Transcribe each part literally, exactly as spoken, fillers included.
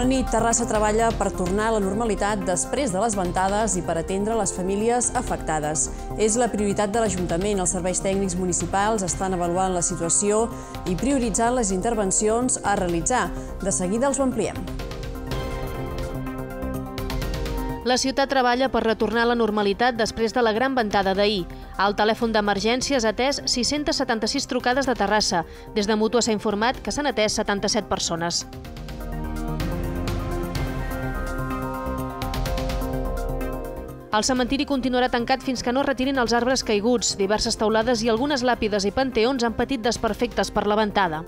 Bona nit. Terrassa treballa per tornar a la normalitat després de les ventades i per atendre les famílies afectades. És la prioritat de l'Ajuntament. Els serveis tècnics municipals estan avaluant la situació i prioritzant les intervencions a realitzar. De seguida els ho ampliem. La ciutat treballa per retornar a la normalitat després de la gran ventada d'ahir. Al telèfon d'emergències ha atès sis-centes setanta-sis trucades de Terrassa. Des de Mútua s'ha informat que s'han atès setanta-set persones. El cementiri continuarà tancat fins que no retirin els arbres caiguts. Diverses teulades i algunes làpides i panteons han patit desperfectes per la ventada.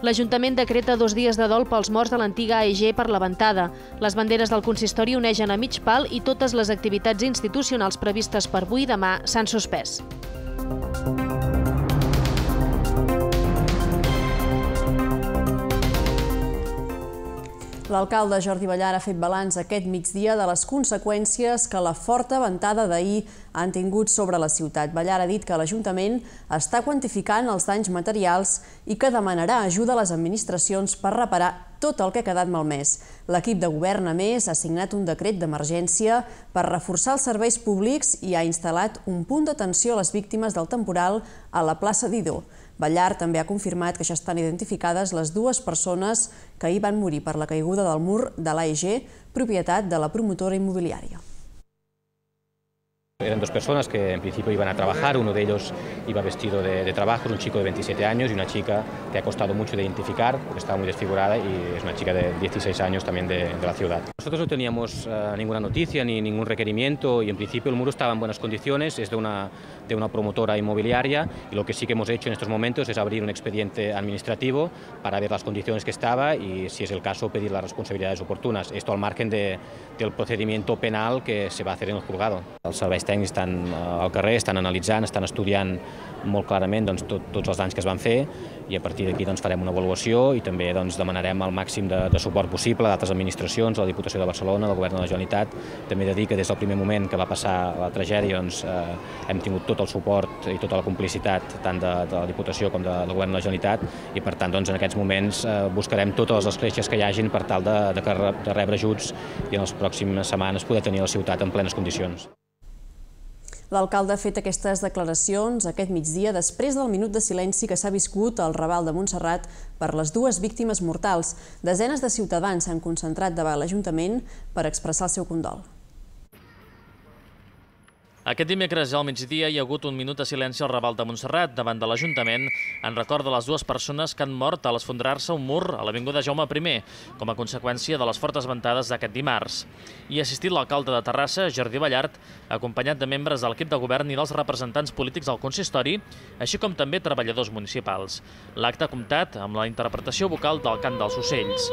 L'Ajuntament decreta dos dies de dol pels morts de l'antiga A E G per la ventada. Les banderes del consistori onegen a mig pal i totes les activitats institucionals previstes per avui i demà s'han suspès. L'alcalde Jordi Ballart ha fet balanç aquest migdia de les conseqüències que la forta ventada d'ahir han tingut sobre la ciutat. Ballart ha dit que l'Ajuntament està quantificant els danys materials i que demanarà ajuda a les administracions per reparar tot el que ha quedat malmès. L'equip de govern, a més, ha signat un decret d'emergència per reforçar els serveis públics i ha instal·lat un punt d'atenció a les víctimes del temporal a la plaça Didó. Ballart també ha confirmat que ja estan identificades les dues persones que ahir van morir per la caiguda del mur de l'A E G, propietat de la promotora inmobiliària. Eran dos personas que en principio iban a trabajar, uno de ellos iba vestido de, de trabajo, un chico de veintisiete años y una chica que ha costado mucho de identificar, porque estaba muy desfigurada y es una chica de dieciséis años también de, de la ciudad. Nosotros no teníamos uh, ninguna noticia ni ningún requerimiento y en principio el muro estaba en buenas condiciones, es de una, de una promotora inmobiliaria y lo que sí que hemos hecho en estos momentos es abrir un expediente administrativo para ver las condiciones que estaba y si es el caso pedir las responsabilidades oportunas. Esto al margen de, del procedimiento penal que se va a hacer en el juzgado. Els serveis tècnics estan al carrer, estan analitzant, estan estudiant molt clarament doncs, tot, tots els danys que es van fer i a partir d'aquí doncs, farem una avaluació i també doncs, demanarem el màxim de, de suport possible d'altres administracions, la Diputació de Barcelona, del Govern de la Generalitat. També he de dir que des del primer moment que va passar la tragèdia doncs, eh, hem tingut tot el suport i tota la complicitat tant de, de la Diputació com de, del Govern de la Generalitat i per tant doncs, en aquests moments eh, buscarem totes les escletxes que hi hagin per tal de, de, de rebre ajuts i en les pròximes setmanes poder tenir la ciutat en plenes condicions. L'alcalde ha fet aquestes declaracions aquest migdia després del minut de silenci que s'ha viscut al Raval de Montserrat per les dues víctimes mortals. Desenes de ciutadans s'han concentrat davant l'Ajuntament per expressar el seu condol. Aquest dimecres al migdia hi ha hagut un minut de silenci al Raval de Montserrat davant de l'Ajuntament en record de les dues persones que han mort a l'esfondrar-se un mur a l'avinguda Jaume primer com a conseqüència de les fortes ventades d'aquest dimarts. Hi ha assistit l'alcalde de Terrassa, Jordi Ballart, acompanyat de membres de l'equip de govern i dels representants polítics del consistori, així com també treballadors municipals. L'acte ha comptat amb la interpretació vocal del cant dels ocells.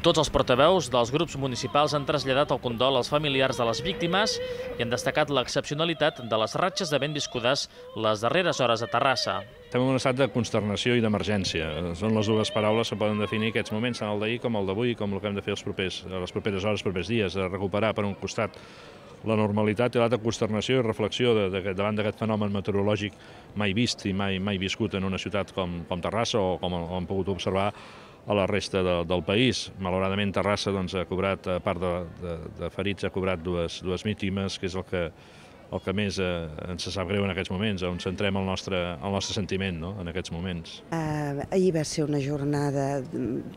Tots els portaveus dels grups municipals han traslladat el condol als familiars de les víctimes i han destacat l'excepcionalitat de les ratxes de vent viscudes les darreres hores a Terrassa. Estem en un estat de consternació i d'emergència. Són les dues paraules que poden definir aquests moments, tant el d'ahir com el d'avui, com el que hem de fer els propers, les properes hores, els propers dies, de recuperar per un costat la normalitat i l'altra consternació i reflexió de, de, davant d'aquest fenomen meteorològic mai vist i mai, mai viscut en una ciutat com, com Terrassa o com hem pogut observar a la resta de, del país. Malauradament Terrassa doncs, ha cobrat, a part de, de, de ferits, ha cobrat dues, dues víctimes, que és el que, el que més eh, ens sap greu en aquests moments, on centrem el nostre, el nostre sentiment no? en aquests moments. Uh, ahir va ser una jornada,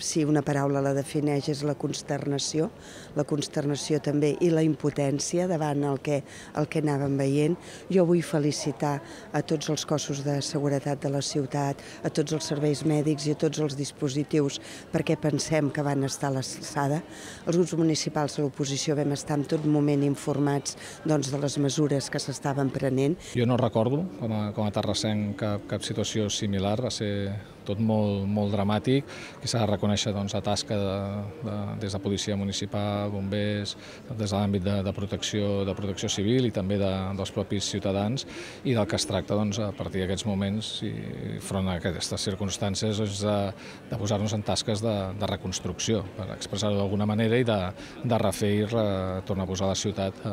si una paraula la defineix, és la consternació, la consternació també i la impotència davant el que, el que anàvem veient. Jo vull felicitar a tots els cossos de seguretat de la ciutat, a tots els serveis mèdics i a tots els dispositius perquè pensem que van estar a l'alçada. Els grups municipals de l'oposició vam estar en tot moment informats doncs, de les mesures que s'estaven prenent. Jo no recordo, com a, com a terrassenc, cap, cap situació similar. Va ser tot molt, molt dramàtic, que s'ha de reconèixer doncs, la tasca de, de, des de policia municipal, bombers, des de l'àmbit de, de, protecció, de protecció civil i també de, dels propis ciutadans, i del que es tracta doncs, a partir d'aquests moments i front a aquestes circumstàncies és de, de posar-nos en tasques de, de reconstrucció, per expressar-ho d'alguna manera, i de, de refer i re, tornar a posar la ciutat eh,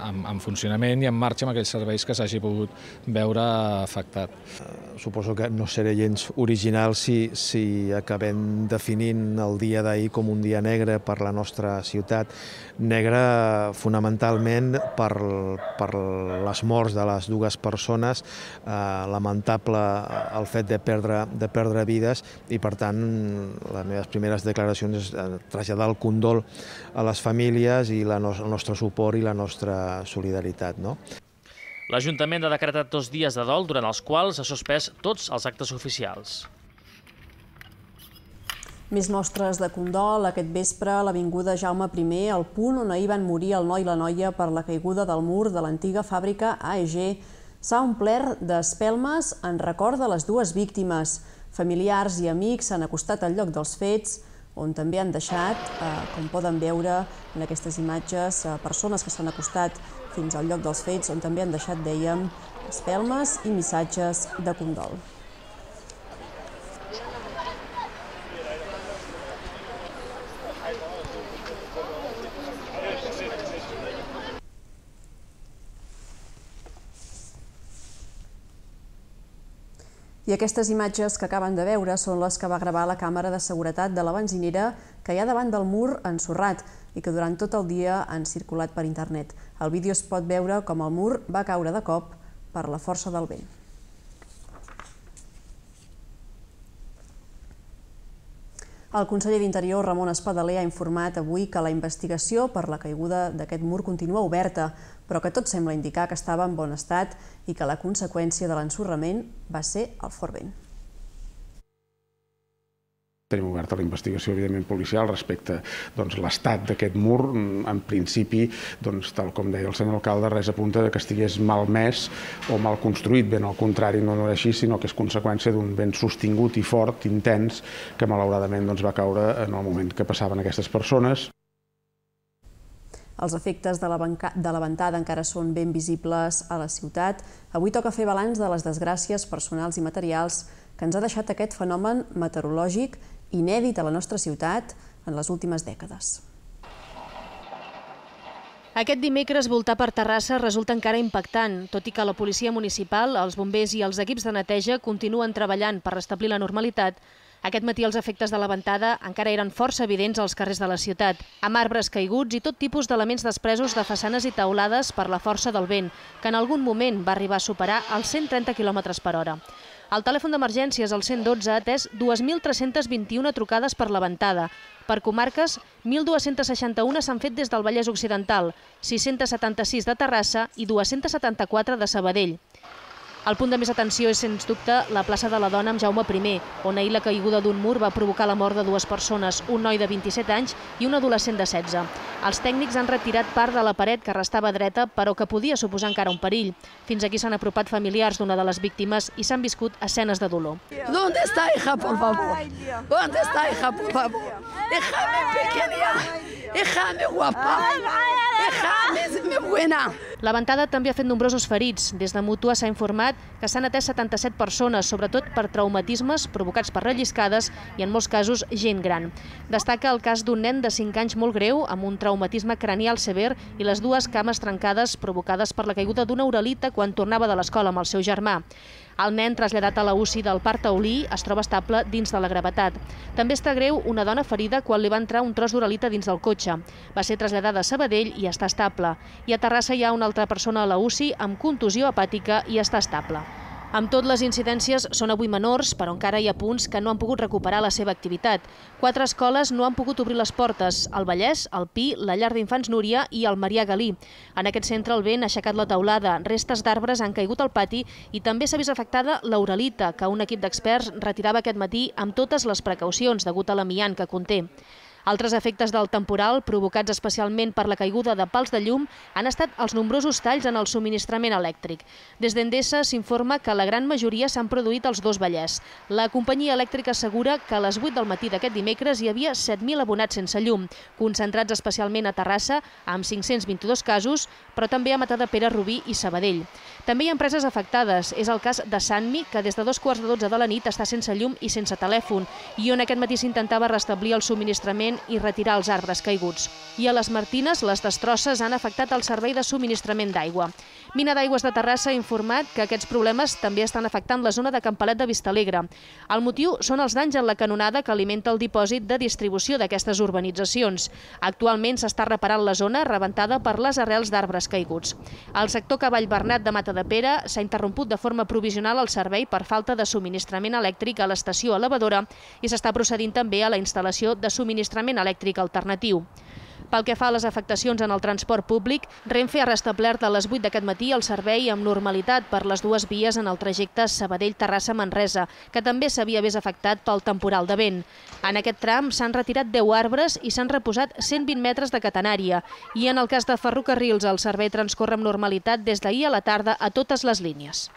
en, en funcionament i en marxa amb aquells serveis que s'hagi pogut veure afectat. Suposo que no seré gens original si, si acabem definint el dia d'ahir com un dia negre per la nostra ciutat. Negre fonamentalment per, per les morts de les dues persones, eh, lamentable el fet de perdre, de perdre vides, i per tant les meves primeres declaracions és traslladar el condol a les famílies i la no, el nostre suport i la nostra solidaritat, no? L'Ajuntament ha decretat dos dies de dol durant els quals ha suspès tots els actes oficials. Més mostres de condol aquest vespre a l'avinguda Jaume primer, al punt on ahir van morir el noi i la noia per la caiguda del mur de l'antiga fàbrica A E G. S'ha omplert d'espelmes en record de les dues víctimes. Familiars i amics s'han acostat al lloc dels fets, on també han deixat, eh, com poden veure en aquestes imatges, eh, persones que s'han acostat fins al lloc dels fets, on també han deixat, dèiem, espelmes i missatges de condol. I aquestes imatges que acaben de veure són les que va gravar la càmera de seguretat de la benzinera que hi ha davant del mur ensorrat i que durant tot el dia han circulat per internet. Al vídeo es pot veure com el mur va caure de cop per la força del vent. El conseller d'Interior, Ramon Espadaler, ha informat avui que la investigació per la caiguda d'aquest mur continua oberta, però que tot sembla indicar que estava en bon estat i que la conseqüència de l'ensorrament va ser el fort vent. Tenim oberta la investigació, evidentment, policial respecte a l'estat d'aquest mur. En principi, tal com deia el senyor alcalde, res apunta que estigués malmès o mal construït. Ben al contrari, no és així, sinó que és conseqüència d'un vent sostingut i fort, intens, que malauradament va caure en el moment que passaven aquestes persones. Els efectes de la ventada encara són ben visibles a la ciutat. Avui toca fer balanç de les desgràcies personals i materials que ens ha deixat aquest fenomen meteorològic inèdit a la nostra ciutat en les últimes dècades. Aquest dimecres voltar per Terrassa resulta encara impactant, tot i que la policia municipal, els bombers i els equips de neteja continuen treballant per restablir la normalitat. Aquest matí els efectes de la ventada encara eren força evidents als carrers de la ciutat, amb arbres caiguts i tot tipus d'elements despresos de façanes i teulades per la força del vent, que en algun moment va arribar a superar els cent trenta quilòmetres per hora. El telèfon d'emergències, el cent dotze, ha atès dos mil tres-cents vint-i-una trucades per la ventada. Per comarques, mil dues-centes seixanta-una s'han fet des del Vallès Occidental, sis-centes setanta-sis de Terrassa i dues-centes setanta-quatre de Sabadell. El punt de més atenció és, sens dubte, la plaça de la Dona amb Jaume primer, on ahir la caiguda d'un mur va provocar la mort de dues persones, un noi de vint-i-set anys i un adolescent de setze. Els tècnics han retirat part de la paret que restava dreta, però que podia suposar encara un perill. Fins aquí s'han apropat familiars d'una de les víctimes i s'han viscut escenes de dolor. ¿Dónde está, hija, por favor? ¿Dónde está, hija, por favor? Déjame pequeña, déjame guapa, déjame buena. La ventada també ha fet nombrosos ferits. Des de Mútua s'ha informat que s'han atès setanta-set persones, sobretot per traumatismes provocats per relliscades i, en molts casos, gent gran. Destaca el cas d'un nen de cinc anys molt greu, amb un traumatisme cranial sever i les dues cames trencades provocades per la caiguda d'una uralita quan tornava de l'escola amb el seu germà. El nen, traslladat a la U C I del Parc Taulí, es troba estable dins de la gravetat. També està greu una dona ferida quan li va entrar un tros d'uralita dins del cotxe. Va ser traslladada a Sabadell i està estable. I a Terrassa hi ha una altra persona a la U C I amb contusió hepàtica i està estable. Amb tot, les incidències són avui menors, però encara hi ha punts que no han pogut recuperar la seva activitat. Quatre escoles no han pogut obrir les portes: el Vallès, el Pi, la Llar d'Infants Núria i el Marià Galí. En aquest centre el vent ha aixecat la teulada, restes d'arbres han caigut al pati i també s'ha vist afectada l'uralita, que un equip d'experts retirava aquest matí amb totes les precaucions degut a l'amiant que conté. Altres efectes del temporal, provocats especialment per la caiguda de pals de llum, han estat els nombrosos talls en el subministrament elèctric. Des d'Endesa s'informa que la gran majoria s'han produït als dos Vallès. La companyia elèctrica assegura que a les vuit del matí d'aquest dimecres hi havia set mil abonats sense llum, concentrats especialment a Terrassa, amb cinc-cents vint-i-dos casos, però també a Matadepera, Rubí i Sabadell. També hi ha empreses afectades. És el cas de Sanmi, que des de dos quarts de dotze de la nit està sense llum i sense telèfon, i on aquest matí s'intentava restablir el subministrament i retirar els arbres caiguts. I a les Martines, les destrosses han afectat el servei de subministrament d'aigua. Mina d'Aigües de Terrassa ha informat que aquests problemes també estan afectant la zona de Campalet de Vistalegre. El motiu són els danys en la canonada que alimenta el dipòsit de distribució d'aquestes urbanitzacions. Actualment s'està reparant la zona rebentada per les arrels d'arbres caiguts. Al sector Cavall Bernat de Matadepera s'ha interromput de forma provisional el servei per falta de subministrament elèctric a l'estació elevadora i s'està procedint també a la instal·lació de subministrament elèctric alternatiu. Pel que fa a les afectacions en el transport públic, Renfe ha restablert a les vuit d'aquest matí el servei amb normalitat per les dues vies en el trajecte Sabadell-Terrassa-Manresa, que també s'havia vist afectat pel temporal de vent. En aquest tram s'han retirat deu arbres i s'han reposat cent vint metres de catenària. I en el cas de ferrocarrils, el servei transcorre amb normalitat des d'ahir a la tarda a totes les línies.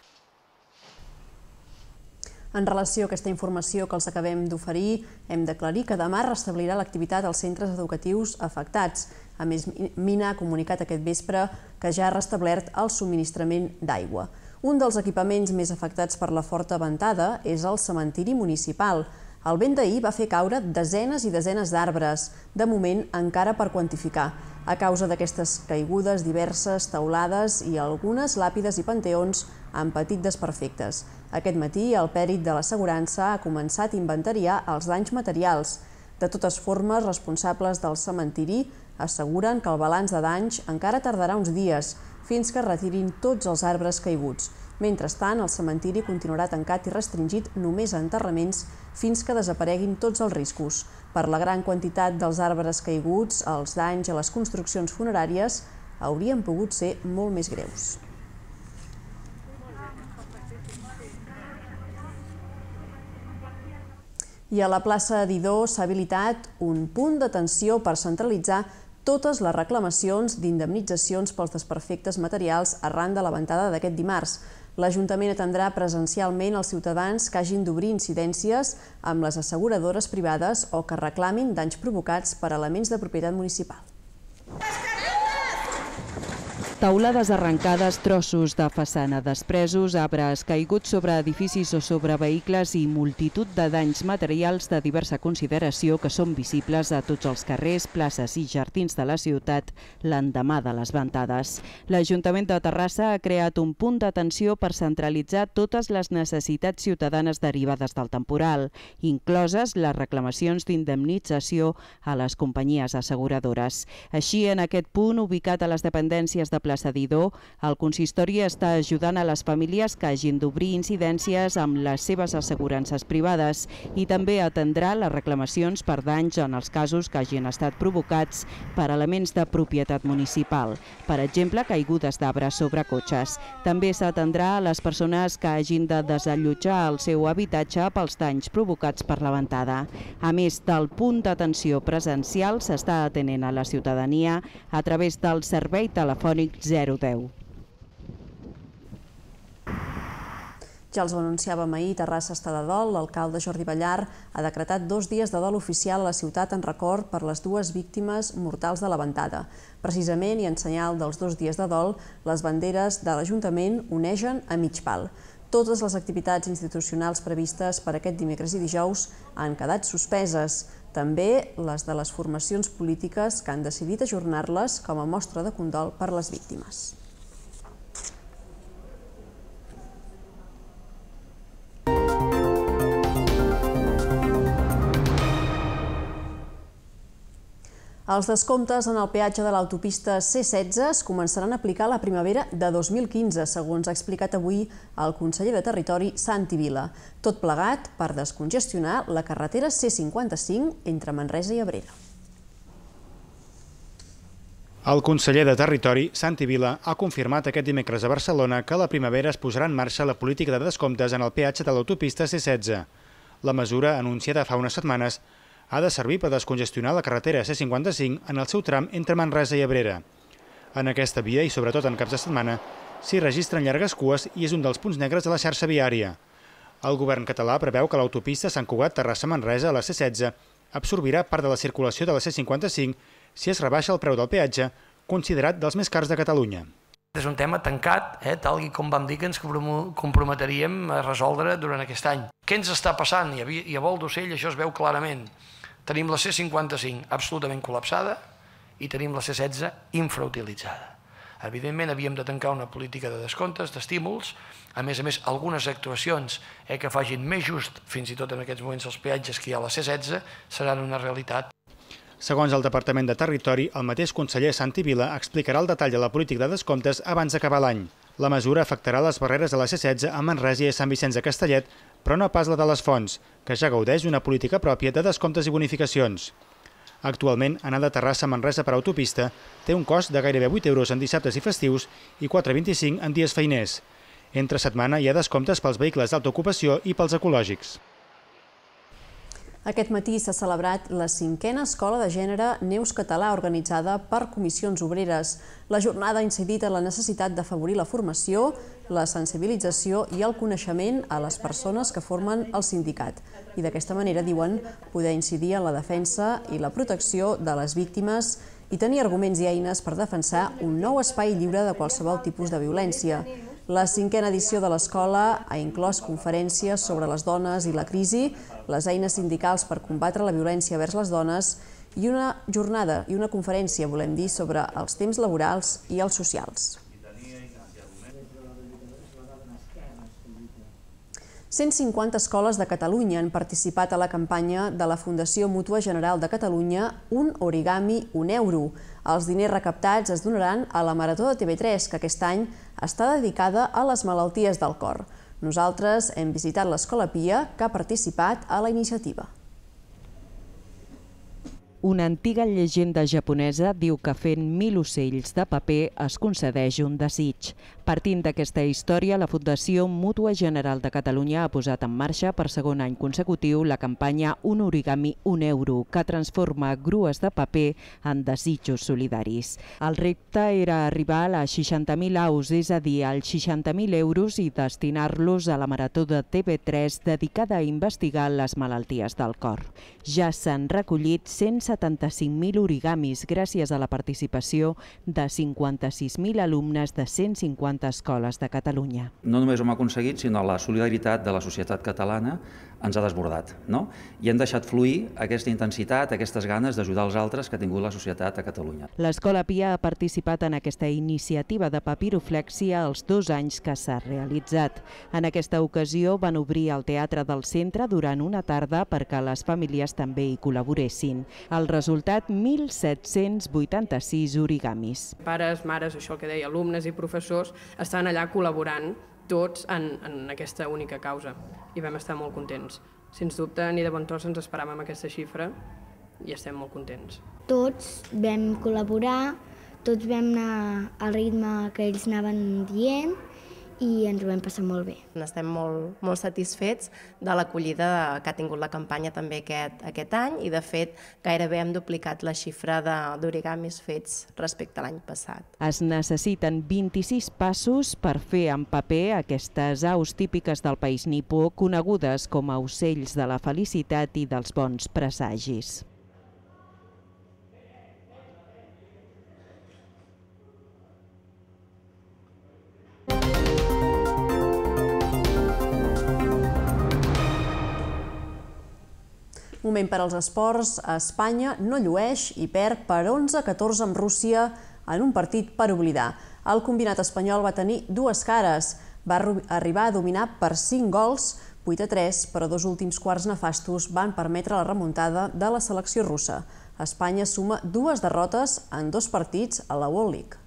En relació a aquesta informació que els acabem d'oferir, hem d'aclarir que demà restablirà l'activitat als centres educatius afectats. A més, Mina ha comunicat aquest vespre que ja ha restablert el subministrament d'aigua. Un dels equipaments més afectats per la forta ventada és el cementiri municipal. El vent d'ahir va fer caure desenes i desenes d'arbres, de moment encara per quantificar. A causa d'aquestes caigudes, diverses teulades i algunes làpides i panteons han patit desperfectes. Aquest matí, el pèrit de l'assegurança ha començat a inventariar els danys materials. De totes formes, responsables del cementiri asseguren que el balanç de danys encara tardarà uns dies, fins que retirin tots els arbres caiguts. Mentrestant, el cementiri continuarà tancat i restringit només a enterraments fins que desapareguin tots els riscos. Per la gran quantitat dels arbres caiguts, els danys a les construccions funeràries haurien pogut ser molt més greus. I a la plaça Didó s'ha habilitat un punt d'atenció per centralitzar totes les reclamacions d'indemnitzacions pels desperfectes materials arran de la ventada d'aquest dimarts. L'Ajuntament atendrà presencialment els ciutadans que hagin d'obrir incidències amb les asseguradores privades o que reclamin danys provocats per elements de propietat municipal. Taulades arrencades, trossos de façana despresos, arbres caiguts sobre edificis o sobre vehicles i multitud de danys materials de diversa consideració que són visibles a tots els carrers, places i jardins de la ciutat l'endemà de les ventades. L'Ajuntament de Terrassa ha creat un punt d'atenció per centralitzar totes les necessitats ciutadanes derivades del temporal, incloses les reclamacions d'indemnització a les companyies asseguradores. Així, en aquest punt, ubicat a les dependències de plaça Didó, el consistori està ajudant a les famílies que hagin d'obrir incidències amb les seves assegurances privades i també atendrà les reclamacions per danys en els casos que hagin estat provocats per elements de propietat municipal, per exemple, caigudes d'arbres sobre cotxes. També s'atendrà a les persones que hagin de desallotjar el seu habitatge pels danys provocats per la ventada. A més del punt d'atenció presencial, s'està atenent a la ciutadania a través del servei telefònic zero deu. Ja els ho anunciàvem ahir, Terrassa està de dol. L'alcalde Jordi Ballar ha decretat dos dies de dol oficial a la ciutat en record per les dues víctimes mortals de la ventada. Precisament, i en senyal dels dos dies de dol, les banderes de l'Ajuntament onegen a mig pal. Totes les activitats institucionals previstes per aquest dimecres i dijous han quedat suspeses. També les de les formacions polítiques que han decidit ajornar-les com a mostra de condol per les víctimes. Els descomptes en el peatge de l'autopista C setze es començaran a aplicar la primavera de dos mil quinze, segons ha explicat avui el conseller de Territori, Santi Vila. Tot plegat per descongestionar la carretera C cinquanta-cinc entre Manresa i Abrera. El conseller de Territori, Santi Vila, ha confirmat aquest dimecres a Barcelona que a la primavera es posarà en marxa la política de descomptes en el peatge de l'autopista C setze. La mesura, anunciada fa unes setmanes, ha de servir per descongestionar la carretera C cinquanta-cinc en el seu tram entre Manresa i Abrera. En aquesta via, i sobretot en caps de setmana, s'hi registren llargues cues i és un dels punts negres de la xarxa viària. El govern català preveu que l'autopista Sant Cugat-Terrassa-Manresa a la C setze absorbirà part de la circulació de la C cinquanta-cinc si es rebaixa el preu del peatge, considerat dels més cars de Catalunya. És un tema tancat, eh, tal com vam dir que ens comprometríem a resoldre durant aquest any. Què ens està passant? I a Vol d'Ocell això es veu clarament. Tenim la C cinquanta-cinc absolutament col·lapsada i tenim la C setze infrautilitzada. Evidentment, havíem de tancar una política de descomptes, d'estímuls, a més a més, algunes actuacions eh, que facin més just, fins i tot en aquests moments els peatges que hi ha a la C setze, seran una realitat. Segons el Departament de Territori, el mateix conseller Santi Vila explicarà el detall de la política de descomptes abans d'acabar l'any. La mesura afectarà les barreres de la C setze a Manresa i a Sant Vicenç de Castellet, però no pas la de les Fonts, que ja gaudeix d'una política pròpia de descomptes i bonificacions. Actualment, anar de Terrassa a Manresa per autopista té un cost de gairebé vuit euros en dissabtes i festius i quatre coma vint-i-cinc en dies feiners. Entre setmana hi ha descomptes pels vehicles d'autoocupació i pels ecològics. Aquest matí s'ha celebrat la cinquena Escola de Gènere Neus Català organitzada per comissions obreres. La jornada ha incidit en la necessitat d'afavorir la formació, la sensibilització i el coneixement a les persones que formen el sindicat. I d'aquesta manera, diuen, poder incidir en la defensa i la protecció de les víctimes i tenir arguments i eines per defensar un nou espai lliure de qualsevol tipus de violència. La cinquena edició de l'escola ha inclòs conferències sobre les dones i la crisi, les eines sindicals per combatre la violència vers les dones i una jornada i una conferència, volem dir, sobre els temps laborals i els socials. cent cinquanta escoles de Catalunya han participat a la campanya de la Fundació Mútua General de Catalunya Un origami, un euro. Els diners recaptats es donaran a la Marató de T V tres, que aquest any està dedicada a les malalties del cor. Nosaltres hem visitat l'Escola Pia, que ha participat a la iniciativa. Una antiga llegenda japonesa diu que fent mil ocells de paper es concedeix un desig. Partint d'aquesta història, la Fundació Mútua General de Catalunya ha posat en marxa per segon any consecutiu la campanya Un origami, un euro, que transforma grues de paper en desitjos solidaris. El repte era arribar a les seixanta mil aus, és a dir, als seixanta mil euros, i destinar-los a la Marató de T V tres dedicada a investigar les malalties del cor. Ja s'han recollit cent setanta-cinc mil origamis gràcies a la participació de cinquanta-sis mil alumnes de cent cinquanta escoles de Catalunya. No només ho hem aconseguit, sinó la solidaritat de la societat catalana ens ha desbordat, no? I hem deixat fluir aquesta intensitat, aquestes ganes d'ajudar els altres que ha tingut la societat a Catalunya. L'Escola Pia ha participat en aquesta iniciativa de papiroflèxia els dos anys que s'ha realitzat. En aquesta ocasió van obrir el teatre del centre durant una tarda perquè les famílies també hi col·laboressin. El resultat, mil set-cents vuitanta-sis origamis. Pares, mares, això que deia, alumnes i professors estan allà col·laborant tots en, en aquesta única causa i vam estar molt contents. Sens dubte, ni de bon tros ens esperàvem aquesta xifra i estem molt contents. Tots vam col·laborar, tots vam anar al ritme que ells anaven dient i ens ho vam passar molt bé. Estem molt, molt satisfets de l'acollida que ha tingut la campanya també aquest, aquest any i, de fet, gairebé hem duplicat la xifra d'origamis fets respecte a l'any passat. Es necessiten vint-i-sis passos per fer en paper aquestes aus típiques del país nipó, conegudes com a ocells de la felicitat i dels bons presagis. Moment per als esports. Espanya no llueix i perd per onze a catorze amb Rússia en un partit per oblidar. El combinat espanyol va tenir dues cares. Va arribar a dominar per cinc gols, vuit a tres, però dos últims quarts nefastos van permetre la remuntada de la selecció russa. Espanya suma dues derrotes en dos partits a la World League.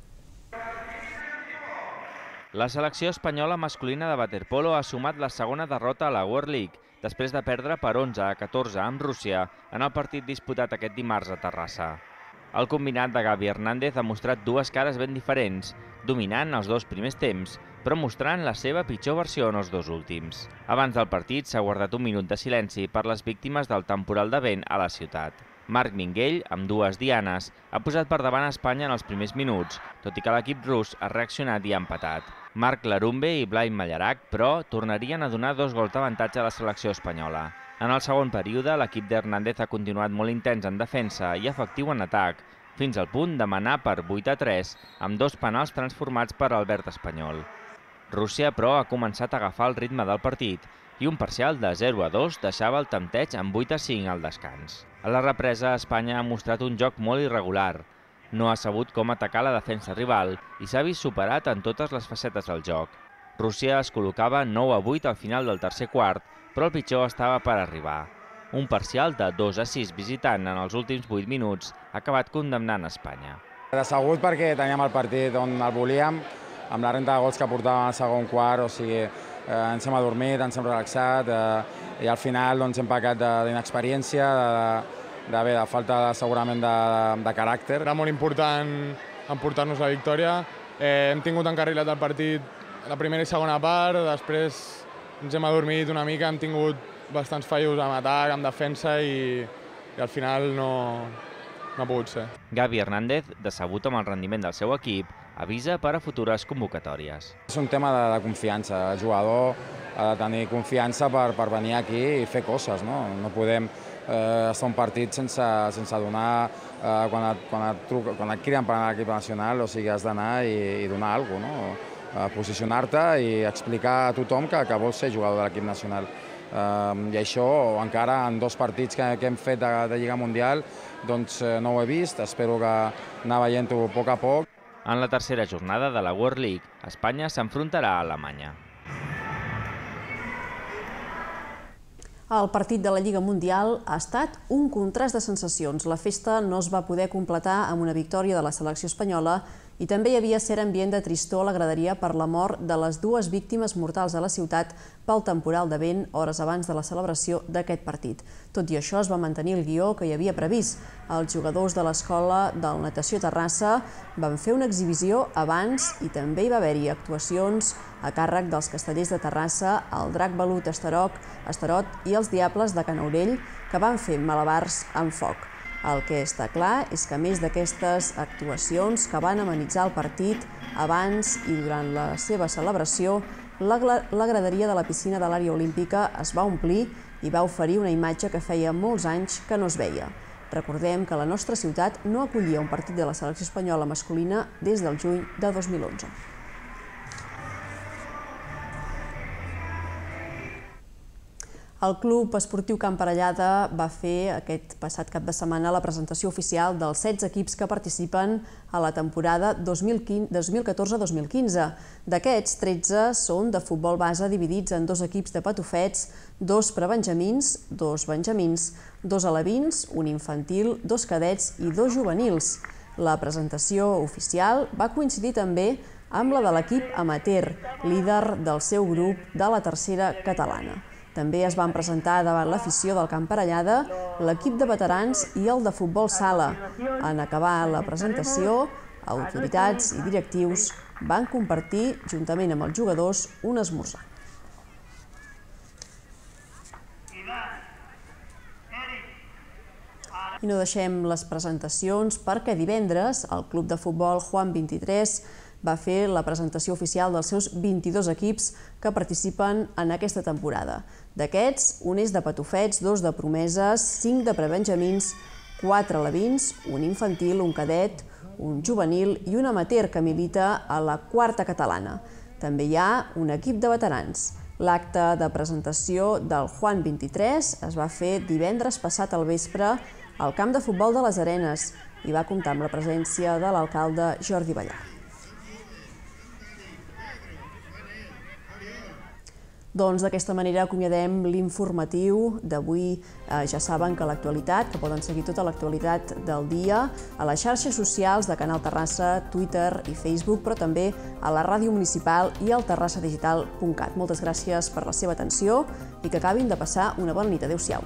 La selecció espanyola masculina de waterpolo ha sumat la segona derrota a la World League, després de perdre per onze a catorze amb Rússia en el partit disputat aquest dimarts a Terrassa. El combinat de Gavi Hernández ha mostrat dues cares ben diferents, dominant els dos primers temps, però mostrant la seva pitjor versió en els dos últims. Abans del partit s'ha guardat un minut de silenci per les víctimes del temporal de vent a la ciutat. Marc Minguell, amb dues dianes, ha posat per davant a Espanya en els primers minuts, tot i que l'equip rus ha reaccionat i ha empatat. Marc Larumbe i Blai Mallarac, però, tornarien a donar dos gols d'avantatge a la selecció espanyola. En el segon període, l'equip d'Hernández ha continuat molt intens en defensa i efectiu en atac, fins al punt de manar per vuit a tres, amb dos penals transformats per Albert Espanyol. Rússia, però, ha començat a agafar el ritme del partit i un parcial de zero a dos deixava el tempteig amb vuit a cinc al descans. A la represa, Espanya ha mostrat un joc molt irregular. No ha sabut com atacar la defensa rival i s'ha vist superat en totes les facetes del joc. Rússia es col·locava nou a vuit al final del tercer quart, però el pitjor estava per arribar. Un parcial de dos a sis visitant en els últims vuit minuts ha acabat condemnant Espanya. Decebut perquè teníem el partit on el volíem, amb la renta de gols que portàvem al segon quart, o sigui, eh, ens hem adormit, ens hem relaxat eh, i al final doncs, hem pecat d'inexperiència, de, de, de, de falta de, segurament de, de caràcter. Era molt important emportar-nos la victòria. Eh, hem tingut encarrilat el partit la primera i segona part, després ens hem adormit una mica, hem tingut bastants fallos en atac, en defensa i, i al final no, no ha pogut ser. Gavi Hernández, decebut amb el rendiment del seu equip, avisa per a futures convocatòries. És un tema de, de confiança. El jugador ha de tenir confiança per, per venir aquí i fer coses. No, no podem eh, estar un partit sense, sense donar, eh, quan, et, quan, et truca, quan et criden per anar a l'equip nacional, o sigui, has d'anar i, i donar alguna cosa, no? Eh, posicionar-te i explicar a tothom que, que vols ser jugador de l'equip nacional. Eh, I això, encara en dos partits que, que hem fet de, de Lliga Mundial, doncs eh, no ho he vist, espero que anar veient-ho a poc a poc. En la tercera jornada de la World League, Espanya s'enfrontarà a Alemanya. El partit de la Lliga Mundial ha estat un contrast de sensacions. La festa no es va poder completar amb una victòria de la selecció espanyola i també hi havia cert ambient de tristor a la graderia per la mort de les dues víctimes mortals a la ciutat pel temporal de vent hores abans de la celebració d'aquest partit. Tot i això, es va mantenir el guió que hi havia previst. Els jugadors de l'escola del Natació Terrassa van fer una exhibició abans i també hi va haver-hi actuacions a càrrec dels Castellers de Terrassa, el Drac Balut Estarot i els Diables de Canaurell, que van fer malabars amb foc. El que està clar és que, a més d'aquestes actuacions que van amenitzar el partit abans i durant la seva celebració, la graderia de la piscina de l'àrea olímpica es va omplir i va oferir una imatge que feia molts anys que no es veia. Recordem que la nostra ciutat no acollia un partit de la selecció espanyola masculina des del juny de dos mil onze. El Club Esportiu Camp Parellada va fer aquest passat cap de setmana la presentació oficial dels setze equips que participen a la temporada dos mil catorze dos mil quinze. D'aquests, tretze són de futbol base dividits en dos equips de patufets, dos prebenjamins, dos benjamins, dos alevins, un infantil, dos cadets i dos juvenils. La presentació oficial va coincidir també amb la de l'equip amateur, líder del seu grup de la tercera catalana. També es van presentar davant l'afició del Camp Parellada l'equip de veterans i el de futbol sala. En acabar la presentació, autoritats i directius van compartir, juntament amb els jugadors, un esmorzar. I no deixem les presentacions perquè divendres el Club de Futbol Juan vint-i-tres va fer la presentació oficial dels seus vint-i-dos equips que participen en aquesta temporada. D'aquests, un és de patufets, dos de promeses, cinc de prebenjamins, quatre alevins, un infantil, un cadet, un juvenil i un amateur que milita a la quarta catalana. També hi ha un equip de veterans. L'acte de presentació del Juan vint-i-tres es va fer divendres passat al vespre al camp de futbol de les Arenes i va comptar amb la presència de l'alcalde Jordi Ballar. Doncs d'aquesta manera acomiadem l'informatiu d'avui. Ja saben que l'actualitat, que poden seguir tota l'actualitat del dia a les xarxes socials de Canal Terrassa, Twitter i Facebook, però també a la ràdio municipal i al terrassa digital punt cat. Moltes gràcies per la seva atenció i que acabin de passar una bona nit. Adéu-siau.